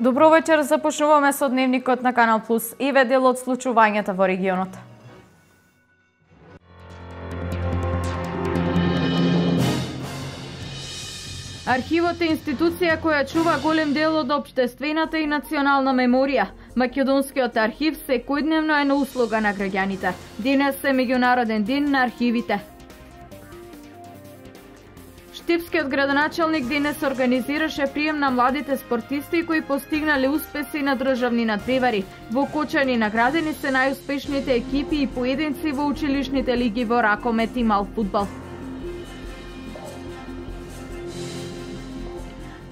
Добро вечер, започнуваме со дневникот на Канал Плюс и дел од случувањата во регионот. Архивот е институција која чува голем дел од општествената и национална меморија. Македонскиот архив секојдневно е на услуга на граѓаните. Денес е меѓународен ден на архивите. Штипскиот градоначалник денес организираше прием на младите спортисти кои постигнале успеси на државни надпревари. Во Кочани наградени се најуспешните екипи и поединци во училишните лиги во ракомет и мал фудбал.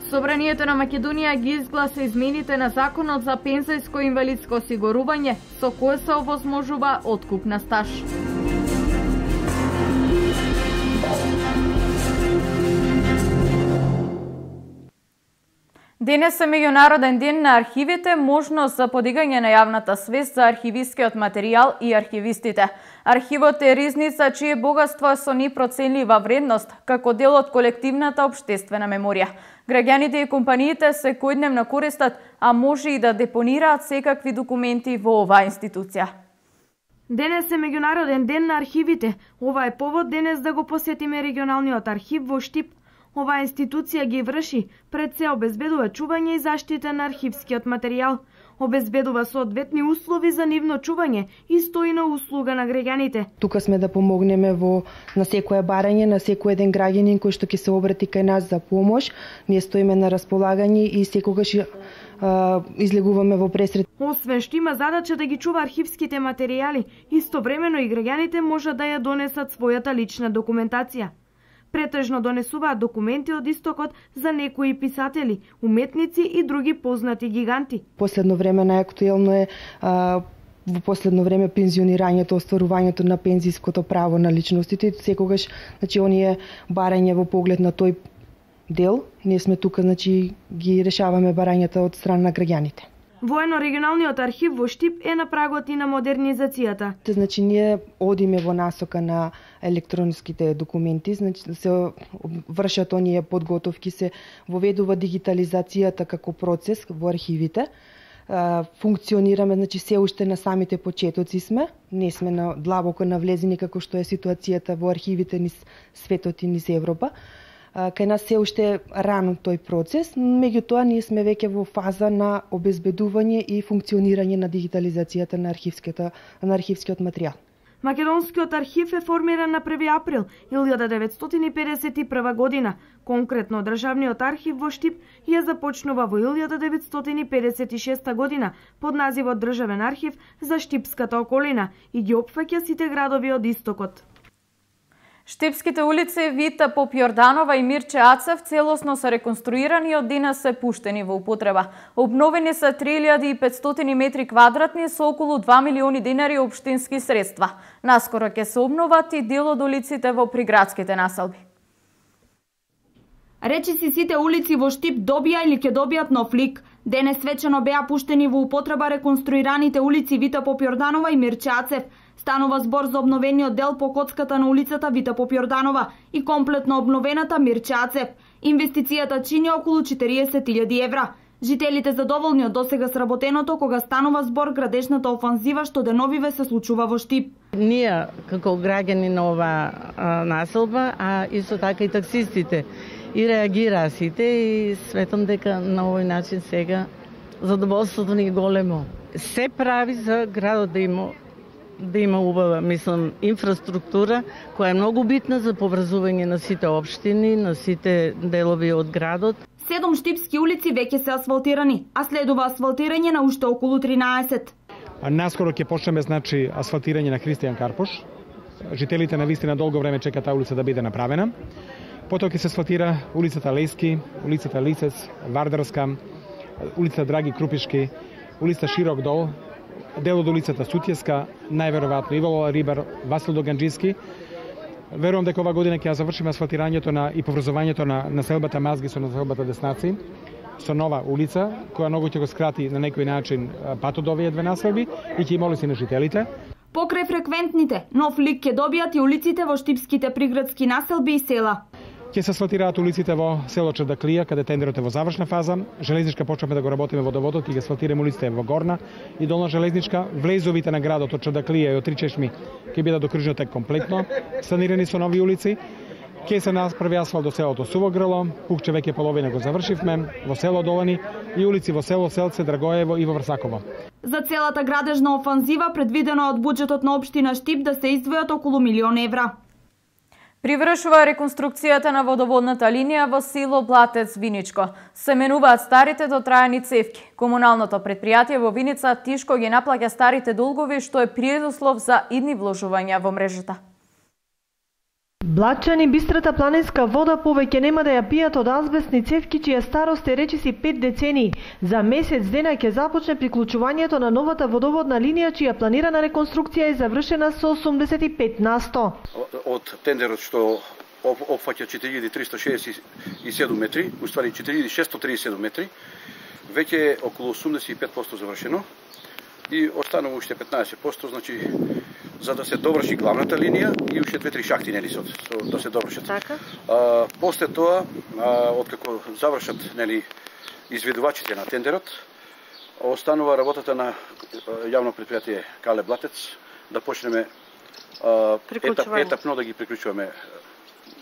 Собранието на Македонија ги изгласа измените на Законот за пензијско и инвалидско осигурување, со кое се овозможува откуп на стаж. Денес е меѓународен ден на архивите, можност за подигање на јавната свест за архивискиот материјал и архивистите. Архивот е ризница чие богатство е со непроценлива вредност, како дел од колективната општествена меморија. Граѓаните и компаниите секојдневно користат, а може и да депонираат секакви документи во оваа институција. Денес е меѓународен ден на архивите. Ова е повод денес да го посетиме регионалниот архив во Штип. Оваа институција ги врши, пред се обезбедува чување и заштита на архивскиот материјал, обезбедува соодветни услови за нивно чување и стои на услуга на граѓаните. Тука сме да помогнеме на секое барање, на секој еден граѓанин кој што ќе се обрати кај нас за помош. Ние стоиме на располагање и секогаш излегуваме во пресред. Освен што има задача да ги чува архивските материјали, истовремено и граѓаните може да ја донесат својата лична документација. Претежно донесуваат документи од истокот за некои писатели, уметници и други познати гиганти. Последно време најактуелно е во последно време пензионирањето, остварувањето на пензиското право на личностите. Секогаш, оние барање во поглед на тој дел, ние сме тука, ги решаваме барањата од страна на граѓаните. Воено-регионалниот архив во Штип е на прагот и на модернизацијата. Ние одиме во насока на електронските документи, се вршат оние подготовки, се воведува дигитализацијата како процес во архивите. Функционираме, се уште на самите почетоци сме, не сме длабоко навлезени како што е ситуацијата во архивите низ светот и низ Европа. Кај нас се уште рано тој процес, меѓутоа ние сме веќе во фаза на обезбедување и функционирање на дигитализацијата на архивскиот материјал. Македонскиот архив е формиран на 1 април 1951 година. Конкретно, Државниот архив во Штип ја започнува во 1956 година под називот Државен архив за Штипската околина и ги опфаќа сите градови од истокот. Штипските улици Вита Попјорданова и Мирче Ацев целосно се реконструирани и од денес се пуштени во употреба. Обновени се 3500 метри квадратни со околу 2 милиони денари општински средства. Наскоро ќе се обноват и дел од улиците во приградските населби. Речиси сите улици во Штип добија или ќе добијат нов лик. Денес свечено беа пуштени во употреба реконструираните улици Вита Попјорданова и Мирче Ацев. Станува збор за обновениот дел по коцката на улицата Вита Попјорданова и комплетно обновената Мирче Ацев. Инвестицијата чини околу 40.000 евра. Жителите задоволни од досега сработеното кога станува збор градежната офанзива што деновиве се случува во Штип. Ние како граѓани на оваа населба, а исто така и таксистите, и реагираа сите и светам дека на овој начин сега задоволството ни е големо. Се прави за градот да има убава, инфраструктура која е многу битна за поврзување на сите општини, на сите делови од градот. 7 штипски улици веќе се асфалтирани, а следува асфалтирање на уште околу 13. Наскоро ќе почнеме асфалтирање на Христијан Карпош. Жителите на вистина долго време чекаат таа улица да биде направена. Потоа ќе се асфалтира улицата Лејски, улицата Лисец, Вардарска, улица Драги Крупишки, улица Широк дол, дел од улицата Сутјеска, најверојатно Ивало Рибар, Васил Доганџиски. Верувам дека ова година ќе ја завршиме асфалтирањето и поврзувањето на населбата Мазги со населбата Деснаци, со нова улица, која многу ќе го скрати на некој начин патот до овие две населби и ќе има улици на жителите. Покрај фреквентните, нов лик ќе добијат и улиците во штипските приградски населби и села. Ќе се асфалтираат улиците во село Чардаклија, каде тендерот е во завршна фаза. Железничка почнеме да го работиме водоводот, ќе ги асфалтираме улиците во Горна и Долна железничка. Влезовите на градот од Чардаклија и од Три чешми ќе бидат докружно тек комплетно, санирани со нови улици. Ќе се направи асфалт до селото Суво Грло, Пукче веќе половина го завршивме, во село Долани и улици во село Селце, Драгоево и во Врсаково. За целата градежна офанзива предвидено од буџетот на општина Штип да се издвојат околу 1 милион евра. Привршува реконструкцијата на водоводната линија во село Блатец, Виничко. Се менуваат старите дотрајани цевки. Комуналното предпријатие во Виница тишко ги наплаќа старите долгови, што е предуслов за идни вложувања во мрежата. Блатчани бистрата планинска вода повеќе нема да ја пијат од азбестни цевки чија старост е речиси 5 децении. За месец дена ќе започне приклучувањето на новата водоводна линија чија планирана реконструкција е завршена со 85%. Од тендерот што опфаќа 4367 метри, уствари 4637 метри, веќе е околу 85% завршено и останува уште 15%, значи за да се доврши главната линија и уште 2-3 шахти нели да се довршат. Така. После тоа, откако завршат нели изведувачите на тендерот, останува работата на јавно предпријатие Кале Блатец да почнеме етапно да ги приклучуваме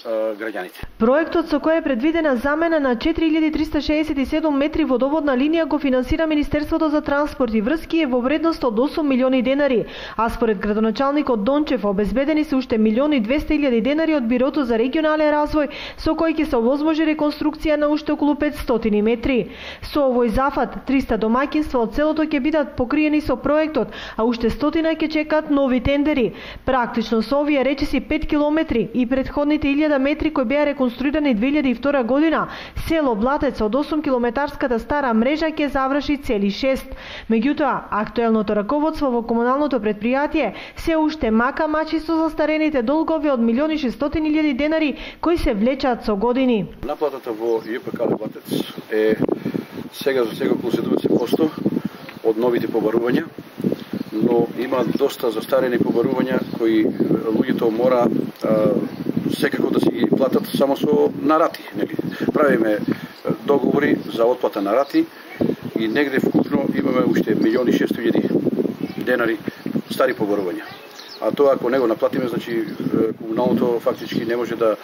граѓаните. Проектот со кој е предвидена замена на 4367 метри водоводна линија го финансира Министерството за транспорт и врски е во вредност од 8 милиони денари, а според градоначалникот Дончев обезбедени се уште 1.200.000 денари од Бирото за регионален развој со кој ќе се овозможи реконструкција на уште околу 500 метри. Со овој зафат 300 домаќинства од селото ќе бидат покриени со проектот, а уште 100 ќе чекаат нови тендери. Практично со овие речиси 5 километри и претходните 1000 метри кои беа реконструирани 2002 година, село Блатец од 8 километарската стара мрежа ќе заврши цели 6. Меѓутоа, актуелното раководство во комуналното предпријатие се уште мака мачи со застарените долгови од 1.600.000 денари кои се влечат со години. Наплатата во ЈП Кале Блатец е сега околу 70% од новите побарувања, но има доста застарени побарувања кои луѓето мора секако да си ги платат само со нарати. Правиме договори за отплата на рати и негде вкупно имаме уште 1.600.000 денари стари побарувања. А тоа ако не го наплатиме, значи комуналното фактички не може да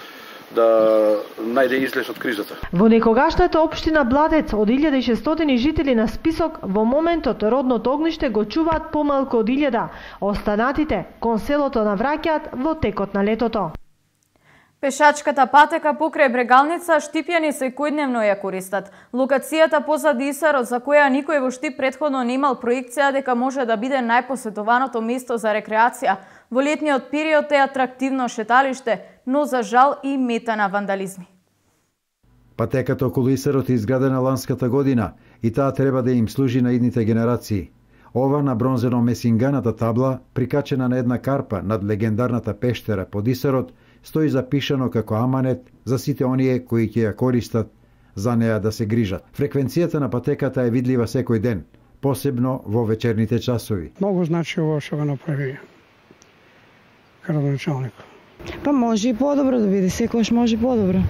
најде излез од кризата. Во некогашната општина Блатец од 1600 жители на список, во моментот родното огниште го чуваат помалку од 1000. Останатите кон селото навраќаат во текот на летото. Пешачката патека покрај Брегалница штипјани секојдневно ја користат. Локацијата позади Исарот, за која никој во Штип претходно не имал проекција дека може да биде најпосетуваното место за рекреација. Во летниот период е атрактивно шеталиште, но за жал и мета на вандализми. Патеката околу Исарот е изградена ланската година и таа треба да им служи на идните генерации. Ова на бронзено месинганата табла, прикачена на една карпа над легендарната пештера под Исарот, стои запишано како аманет за сите оние кои ќе ја користат за неа да се грижат. Фреквенцијата на патеката е видлива секој ден, посебно во вечерните часови. Многу значи ово што го направи градоначалник. Па може и подобро да биде, секогаш може подобро.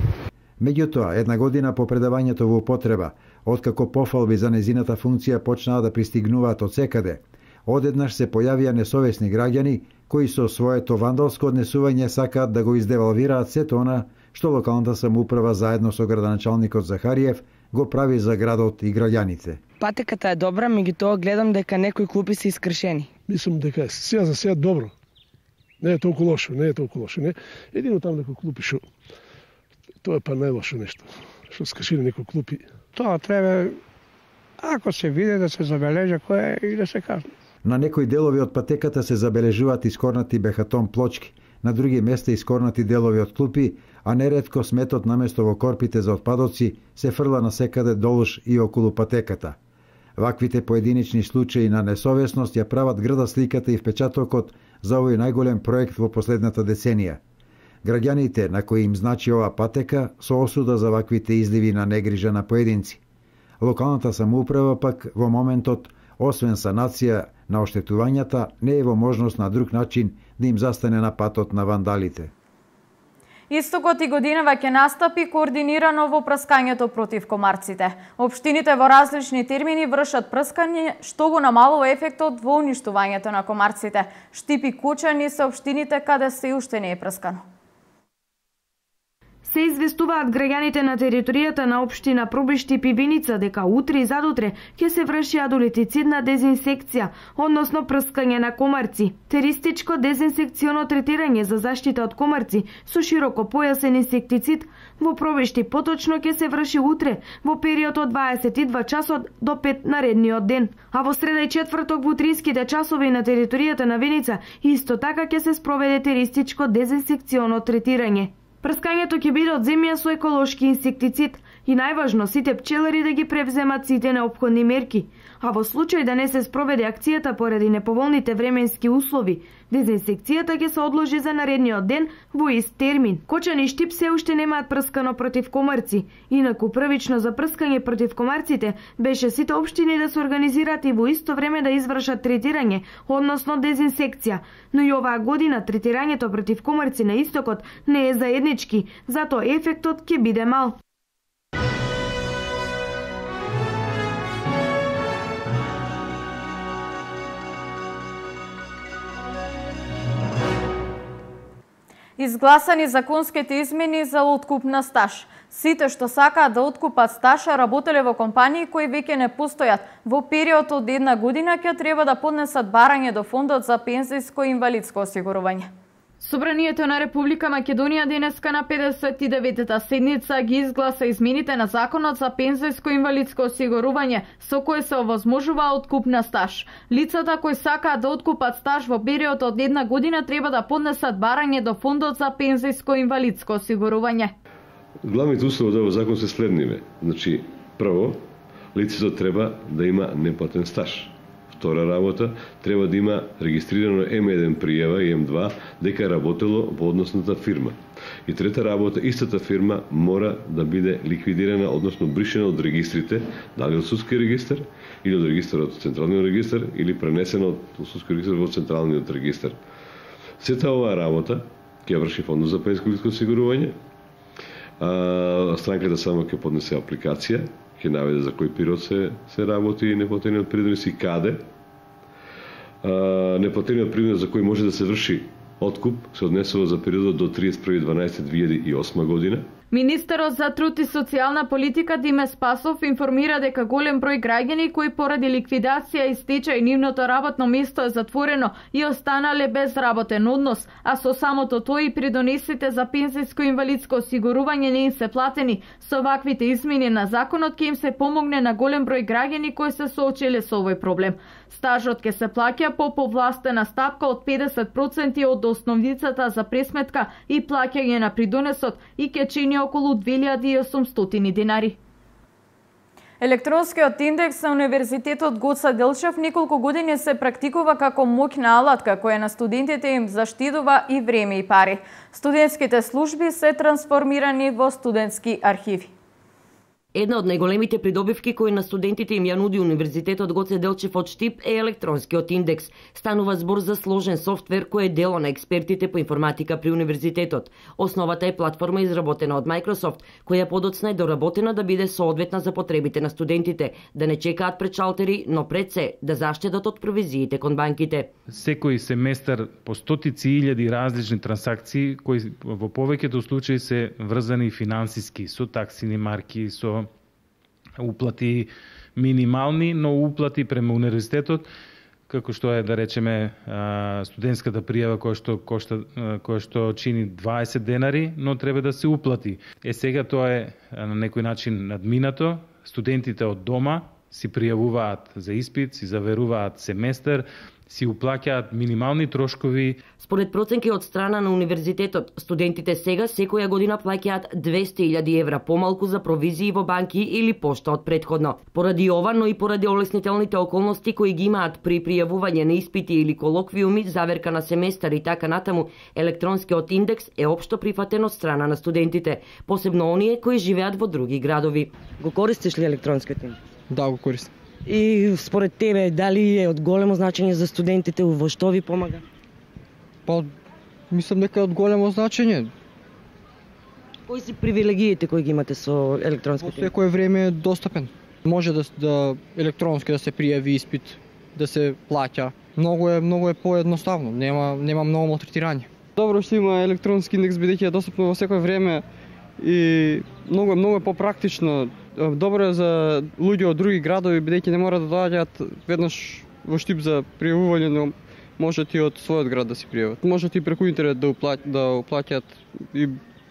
Меѓутоа, една година по предавањето во употреба, откако пофалби за незината функција почнаа да пристигнуваат од секаде, одеднаш се појавија несовесни граѓани кои со своето вандалско однесување сакаат да го издевалвираат сето она што локалната самоуправа заедно со градоначалникот Захариев го прави за градот и граѓаните. Патеката е добра, меѓутоа гледам дека некои клупи се искршени. Мислам дека сега за сега добро. Не е толку лошо, не. Едино таму некои клупи што тоа е па најлошо нешто. Што скршени некои клупи. Тоа треба, ако се види, да се забележа кој е и да се казне. На некои делови од патеката се забележуваат искорнати бехатон плочки, на други места искорнати делови од клупи, а неретко сметот наместо во корпите за отпадоци се фрла насекаде долж и околу патеката. Ваквите поединечни случаи на несовесност ја прават грда сликата и впечатокот за овој најголем проект во последната деценија. Граѓаните на кои им значи ова патека со осуда за ваквите изливи на негрижа на поединци. Локалната самоуправа пак во моментот, освен санација на оштетувањата, не е во можност на друг начин да им застане на патот на вандалите. Истокот и годинава ќе настапи координирано во прскањето против комарците. Општините во различни термини вршат прскање, што го намалува ефектот во уништувањето на комарците. Штип и Кочани се општините каде се уште не е прскано. Се известуваат граѓаните на територијата на општина Пробиштип и Виница дека утре и задутре ќе се врши адолетицидна дезинсекција, односно прскање на комарци. Теристичко дезинсекционо третирање за заштита од комарци со широко појасен инсектицид во Пробиштип поточно ќе се врши утре во период од 22 часот до 5 наредниот ден, а во среда и четврток во утринските часови на територијата на Виница исто така ќе се спроведе теристичко дезинсекционо третирање. Прскањето ќе биде од земја со еколошки инсектицид и најважно сите пчелари да ги превземат сите неопходни мерки, а во случај да не се спроведе акцијата поради неповолните временски услови, дезинсекцијата ќе се одложи за наредниот ден во ист термин. Кочани и Штип се уште немаат прскано против комарци, инаку првично за прскање против комарците беше сите општини да се организираат и во исто време да извршат третирање, односно дезинсекција, но и оваа година третирањето против комарци на истокот не е заеднички, затоа ефектот ќе биде мал. Изгласани законските измени за откуп на стаж. Сите што сакаат да откупат стаж, работеле во компании кои веќе не постојат, во период од 1 година ќе треба да поднесат барање до Фондот за пензијско и инвалидско осигурување. Собранието на Република Македонија денеска на 59-та седница ги изгласа измените на Законот за пензијско и инвалидско осигурување, со кој се овозможува откуп на стаж. Лицата кои сакаат да откупат стаж во период од 1 година треба да поднесат барање до Фондот за пензијско и инвалидско осигурување. Главните услови од овој закон се следниве. Значи, прво, лицето треба да има неплатен стаж. Втора работа, треба да има регистрирано М1 пријава и М2 дека е работело во односната фирма. И трета работа, истата фирма мора да биде ликвидирана, односно бришена од регистрите, дали од судски регистар, или од регистарот од централниот регистар, или пренесена од судски регистар во централниот регистар. Сета оваа работа ќе врши Фондот за пензијско осигурување. Странката само ќе поднесе апликација, ќе наведе за кој период се работи неплатениот придонес и каде. Неплатениот придонес за кој може да се врши откуп се однесува за периодот до 31.12.2008 година. Министерот за труд и социјална политика Диме Спасов информира дека голем број граѓани кои поради ликвидација и стечај нивното работно место е затворено и останале без работен однос, а со самото тој и придонесите за пензијско и инвалидско осигурување не им се платени. Со ваквите измени на законот ќе им се помогне на голем број граѓани кои се соочиле со овој проблем. Стажот ќе се плаќа по повластена стапка од 50% од основницата за пресметка и плаќање на придонесот и ќе чини околу 2800 денари. Електронскиот индекс на Универзитетот Гоце Делчев неколку години се практикува како моќна алатка која на студентите им заштедува и време и пари. Студентските служби се трансформирани во студентски архиви. Една од најголемите придобивки кои на студентите им ја нуди Универзитетот Гоце Делчев од Штип е електронскиот индекс. Станува збор за сложен софтвер кој е дело на експертите по информатика при Универзитетот. Основата е платформа изработена од Microsoft, која подоцна е доработена да биде соодветна за потребите на студентите, да не чекаат пред шалтери, но пред се да заштедат од провизиите кон банките. Секој семестар по стотици илјади различни трансакции кои во повеќето случаи се врзани финансиски со таксини марки, со уплати минимални, но уплати према универзитетот, како што е, да речеме, студентската пријава која што чини 20 денари, но треба да се уплати. Сега тоа е на некој начин надминато. Студентите од дома си пријавуваат за испит, си заверуваат семестар, си уплаќаат минимални трошкови. Според проценки од страна на Универзитетот, студентите сега секоја година плаќаат 200.000 евра помалку за провизии во банки или пошта од претходно. Поради ова, но и поради олеснителните околности кои ги имаат при пријавување на испити или колоквиуми, заверка на семестар и така натаму, електронскиот индекс е општо прифатен од страна на студентите, посебно оние кои живеат во други градови. Го користиш ли електронскиот индекс? Да, го користам. И според тебе, дали е од големо значење за студентите, во што ви помага? Па, мислам дека е од големо значење. Кои се привилегиите кои ги имате со електронските? Во секое време е достапен. Може да електронски да се пријави испит, да се плаќа. Многу е поедноставно, нема многу малтретирање. Добро што има електронски индекс бидејќи е достапно во секое време и многу е попрактично. Добро е за луѓе од други градови бидејќи не мора да доаѓаат веднаш во Штип за пријавување, но можат и од својот град да се пријават. Можат и преку интернет да уплаќаат и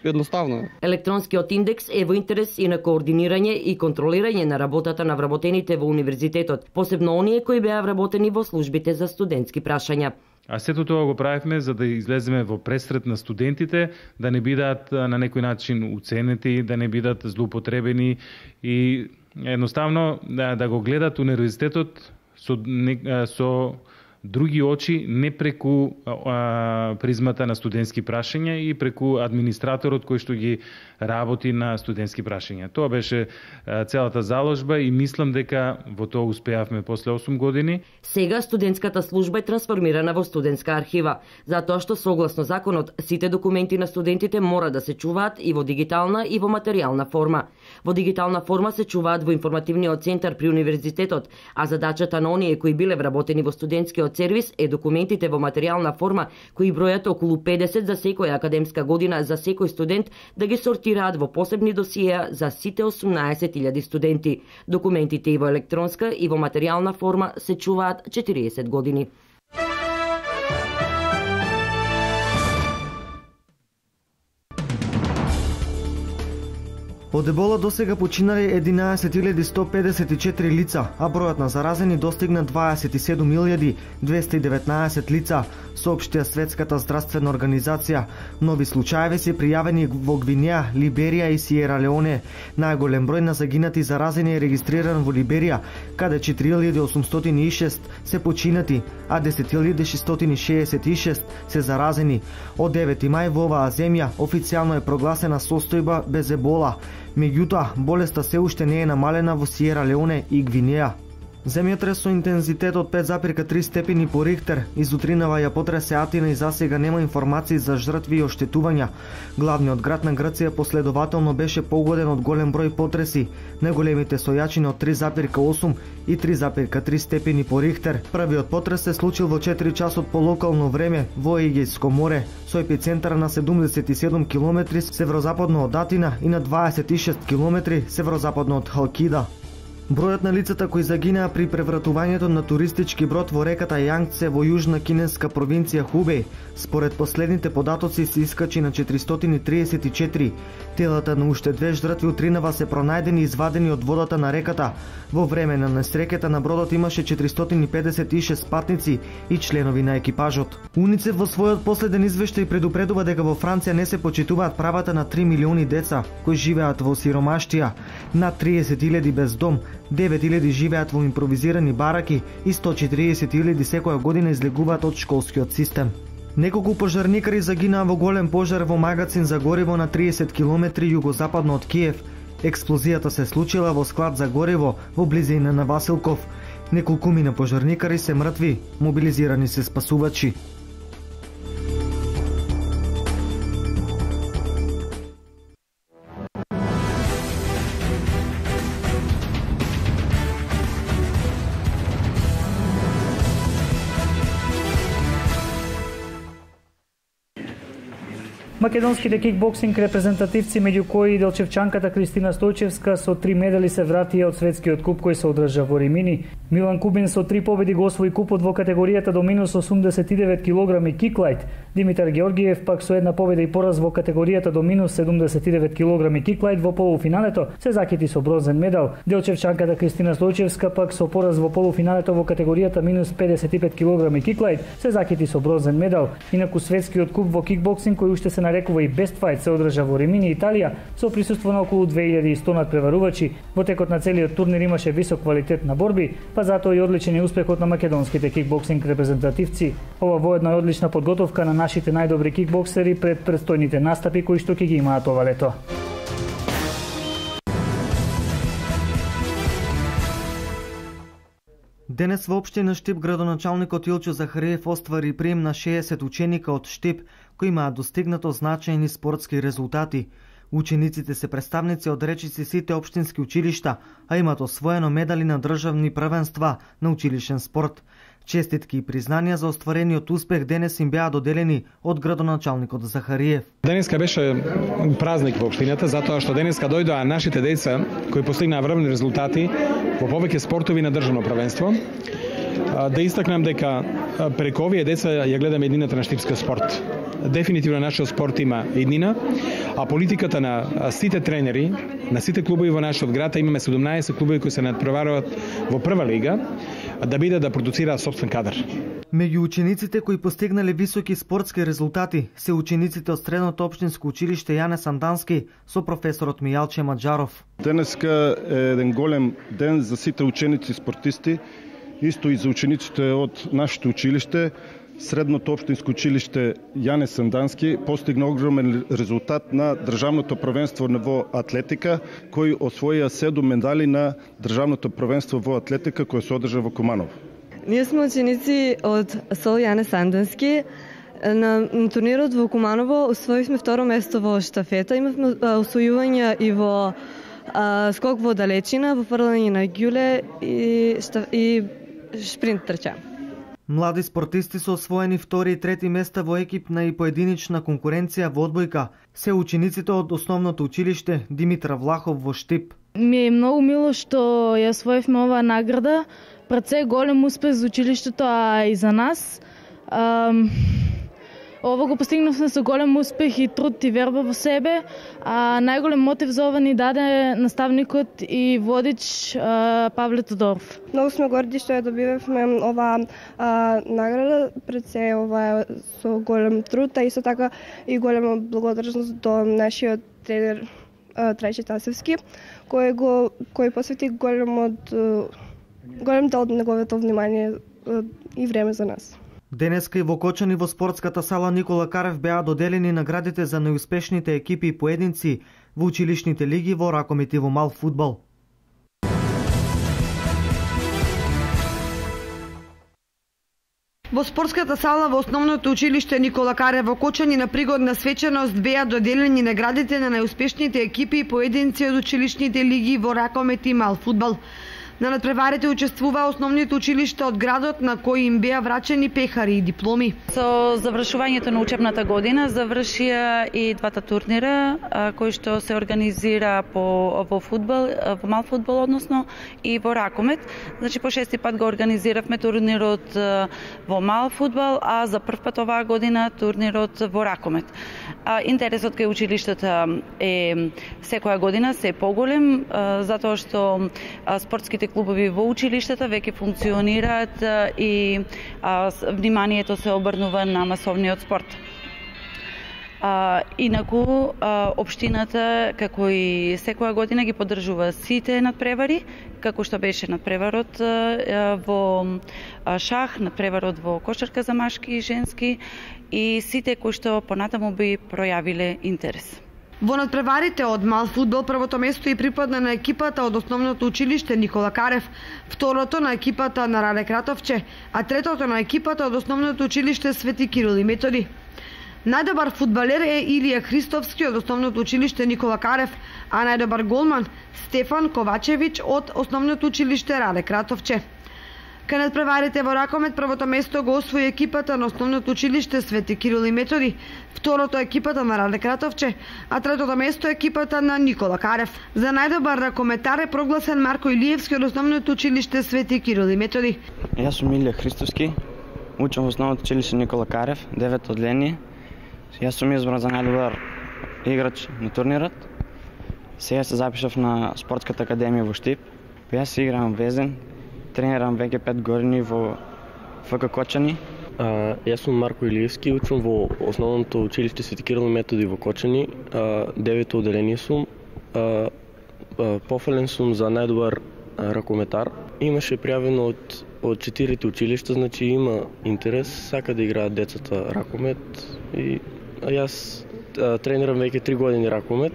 едноставно. Електронскиот индекс е во интерес и на координирање и контролирање на работата на вработените во универзитетот, посебно оние кои беа вработени во службите за студентски прашања. А сето тоа го правевме за да излеземе во пресред на студентите, да не бидат на некој начин уценети, да не бидат злоупотребени и едноставно да го гледат универзитетот со други очи, не преку призмата на студентски прашања и преку администраторот кој што ги работи на студентски прашања. Тоа беше целата заложба и мислам дека во тоа успеавме после 8 години. Сега студентската служба е трансформирана во студентска архива, затоа што согласно законот сите документи на студентите мора да се чуваат и во дигитална и во материјална форма. Во дигитална форма се чуваат во информативниот центар при универзитетот, а задачата на оние кои биле вработени во студентскиот сервис е документите во материјална форма, кои бројат околу 50 за секоја академска година за секој студент, да ги сортираат во посебни досиеа за сите 18.000 студенти. Документите и во електронска и во материјална форма се чуваат 40 години. Од ебола досега починале 11.154 лица, а бројот на заразени достигна 27.219 лица, соопштија Светската здравствена организација. Нови случаеви се пријавени во Гвинеја, Либерија и Сиера Леоне. Најголем број на загинати заразени е регистриран во Либерија, каде 4.806 се починати, а 10.666 се заразени. Од 9 мај во оваа земја официјално е прогласена состојба без ебола. Меѓутоа, болеста се уште не е намалена во Сиера Леоне и Гвинеја. Земјотрес со интензитет од 5,3 степени по Рихтер изутринава ја потресе Атина и засега нема информации за жртви и оштетувања. Главниот град на Грција последователно беше погоден од голем број потреси, најголемите со јачина од 3,8 и 3,3 степени по Рихтер. Првиот потрес се случил во 4 часот по локално време во Егејско море, со епицентар на 77 км северозападно од Атина и на 26 км северозападно од Халкида. Бројот на лицата кои загинаа при превратувањето на туристички брод во реката Јангце во јужна кинеска провинција Хубеј, според последните податоци се искачи на 434. Телата на уште две жртви утринава се пронајдени и извадени од водата на реката. Во време на несреќата на бродот имаше 456 патници и членови на екипажот. УНИЦЕФ во својот последен извештај предупредува дека во Франција не се почитуваат правата на 3 милиони деца кои живеат во сиромаштија, над 30.000 без дом, 9.000 живеат во импровизирани бараки и 140.000 секоја година излегуваат од школскиот систем. Неколку пожарникари загинаа во голем пожар во магазин за гориво на 30 км југозападно од Киев. Експлозијата се случила во склад за гориво во близина на Василков. Неколкумина пожарникари се мртви, мобилизирани се спасувачи. Македонските кикбоксинг репрезентативци, меѓу кои и делчевчанката Кристина Стојчевска со 3 медали се вратија од светскиот куп кој се одржа во Римини. Милан Кубин со 3 победи го освои купот во категоријата до минус 89 кг киклайт. Димитар Георгиев пак со една победа и пораз во категоријата до минус 79 кг киклайт во полуфиналето се закити со бронзен медал. Делчевчанката Кристина Стојчевска пак со пораз во полуфиналето во категоријата минус 55 кг киклайт се закити со бронзен медал. Инаку светскиот куп во кикбоксинг кој уште се нарекува и Best Fight се одржа во Римини, Италија, со присуство на околу 2100 надпреварувачи. Во текот на целиот турнир имаше висок квалитет на борби, па затоа и одличен е успехот на македонските кикбоксинг репрезентативци. Ова воедно е одлична подготовка на нашите најдобри кикбоксери пред предстојните настапи кои што ќе ги имаат ова лето. Денес во општина Штип градоначалникот Илчо Захариев оствари прием на 60 ученика од Штип кои имаат достигнато значајни спортски резултати. Учениците се представници од речиси сите општински училишта, а имат освоено медали на државни првенства на училишен спорт. Честитки и признанија за остварениот успех денес им беа доделени од градоначалникот Захариев. Денеска беше празник во општината, затоа што денеска дојдоа нашите деца кои постигнаа врвни резултати во повеќе спортови на државно првенство. Да истакнам дека преку овие деца ја гледаме еднината на штипска спорт. Дефинитивно нашиот спорт има еднина, а политиката на сите тренери, на сите клубови во нашиот град, имаме 17 клубови кои се надпреваруваат во прва лига, да бидат да продуцираат собствен кадар. Меѓу учениците кои постигнале високи спортски резултати се учениците од Средното општинско училиште Јане Сандански со професорот Мијалче Маџаров. Денеска е еден голем ден за сите ученици спортисти, исто и за учениците од нашето училиште. Средното општинско училиште Јане Сандански постигна огромен резултат на државното првенство во атлетика, кој освоија 7 медали на државното првенство во атлетика кој се одржа во Куманово. Ние сме ученици од СОЛ Јане Сандански. На турнирот во Куманово освоивме второ место во штафета. Имавме освојувања и во скок во далечина, во фрлање на ѓуле и шпринт трча. Млади спортисти со освоени втори и трети места во екипна и поединична конкуренција во одбојка се учениците од основното училиште Димитра Влахов во Штип. Ми е многу мило што ја освоивме оваа награда. Пред се голем успех за училиштето, а и за нас. Ово го постигнавме со голем успех и труд и верба во себе, а најголем мотив за ова ни даде наставникот и водич Павле Тодоров. Многу сме горди што ја добивавме оваа награда, пред се ова со голем труд, а исто така и голема благодарност до нашиот тренер Трајче Тасевски, кој посвети голем дел од неговото внимание и време за нас. Денеска и во Кочани во спортската сала Никола Карев беа доделени наградите за најуспешните екипи и поединци во училишните лиги во ракомет и во мал фудбал. Во спортската сала во основното училиште Никола Карев во Кочани на пригодна свечаност беа доделени наградите на најуспешните екипи и поединци од училишните лиги во ракомет и мал фудбал. На надпреварите учествуваа основните училишта од градот на кои им беа врачени пехари и дипломи. Со завршувањето на учебната година завршија и двата турнира кои што се организира во фудбал, во мал фудбал односно и во ракомет. Значи по шести пат го организиравме турнирот во мал фудбал, а за прв пат оваа година турнирот во ракомет. Интересот кај училиштата е секоја година се поголем затоа што спортските клубови во училиштата веќе функционираат и вниманието се обрнува на масовниот спорт. Инаку, општината, како и секоја година, ги поддржува сите надпревари, како што беше надпреварот во шах, надпреварот во кошарка за машки и женски и сите кои што понатаму би пројавиле интерес. Во надпреварите од мал фудбал првото место и припадна на екипата од основното училиште Никола Карев, второто на екипата на Раде Кратовче, а третото на екипата од основното училиште Свети Кирил и Методи. Најдобар фудбалер е Илија Христовски од основното училиште Никола Карев, а најдобар голман Стефан Ковачевиќ од основното училиште Раде Кратовче. Кај надпреварите во ракомет првото место го освои екипата на основното училиште Свети Кирил и Методи, второто екипата на Раде Кратовче, а третото место екипата на Никола Карев. За најдобар ракометар е прогласен Марко Илиевски од основното училиште Свети Кирил и Методи. Јас сум Илија Христовски, учам во основното училиште Никола Карев, 9 одделение. Јас сум избран за најдобар играч на турнирот. Сега се запишав на спортската академија во Штип. Јас играм везен. Тренирам веќе 5 години во ФК Кочани. Јас сум Марко Илиевски, учам во основното училиште Свети Кирил и Методи во Кочани. 9 одделение сум. Пофален сум за најдобар ракометар. Имаше пријавено од 4 училишта, значи има интерес, сака да играат децата ракомет и јас тренирам веќе 3 години ракомет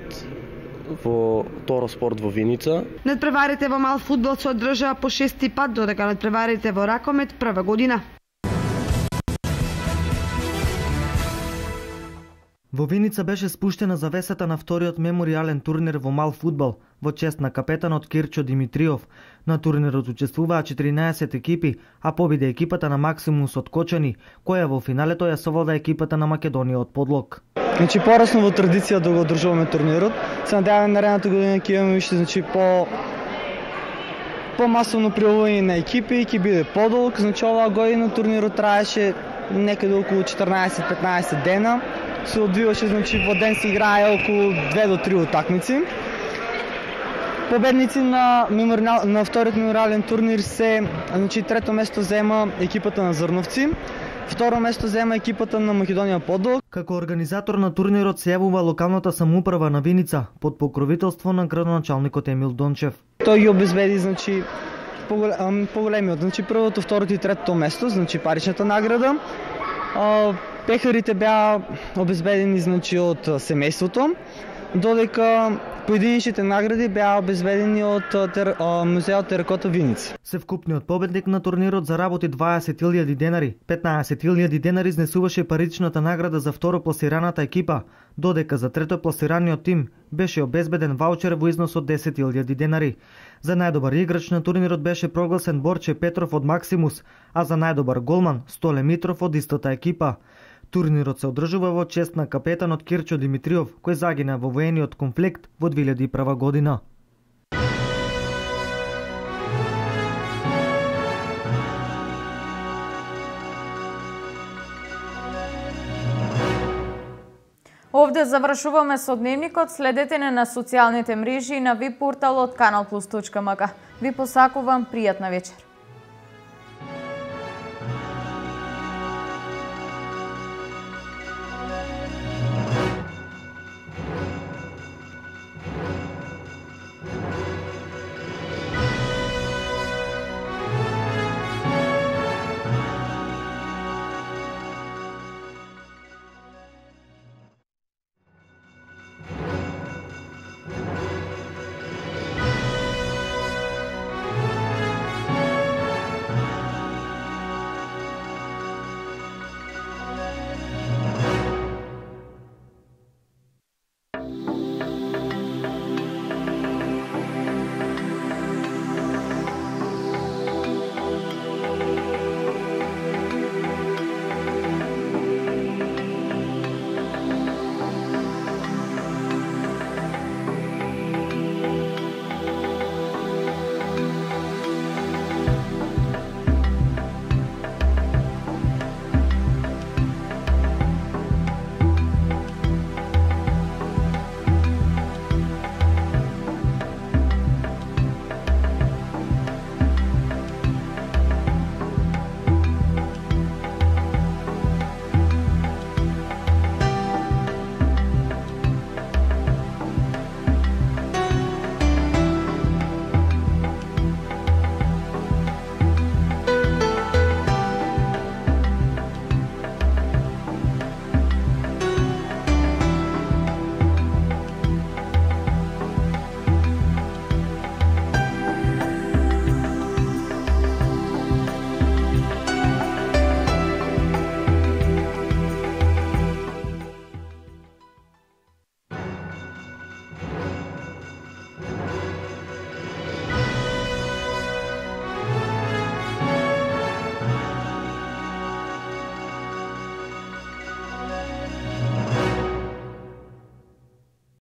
во Торо спорт во Виница. Надпреварите во мал фудбал се одржаа по 6 пат, додека надпреварите во ракомет прва година. Во Виница беше спуштена завесата на вториот меморијален турнир во мал фудбал во чест на капетанот Кирчо Димитриов. На турнирот учествуваа 14 екипи, а победи екипата на Максимус од Кочани, која во финалето ја совлада екипата на Македонија од Подлог. Значи порасно во традиција да го одржуваме турнирот. Се надеваме наредната година ќе имаме више по-масовно пријавување на екипи, ќе биде подолг. Значи оваа година турнирот траеше некаде околу 14-15 дена. Се одвиваше, значи во ден се играе околу 2 до 3 утакмици. Победници на вториот меморијален турнир се, значи трето место зема екипата на Зрновци, второ место зема екипата на Македонија Подлог. Како организатор на турнирот се јавува локалната самоуправа на Виница под покровителство на градоначалникот Емил Дончев. Тој ги обезбеди, значи поголемиот, значи првото, второто и третото место, значи паричната награда. Пехарите беа обезбедени, значи од семејството, додека поединечните награди беа обезбедени од музеот Теракота Виница. Севкупниот победник на турнирот заработи 20.000 денари. 15.000 денари изнесуваше паричната награда за второпласираната екипа, додека за третопласираниот тим беше обезбеден ваучер во износ од 10.000 денари. За најдобар играч на турнирот беше прогласен Борче Петров од Максимус, а за најдобар голман Столе Митров од истата екипа. Турнирот се одржува во чест на капетанот Кирчо Димитриов, кој загина во воениот конфликт во 2001 година. Овде завршуваме со дневникот. Следете не на социјалните мрежи и на веб порталот kanalplus.mk. Ви посакувам пријатна вечер.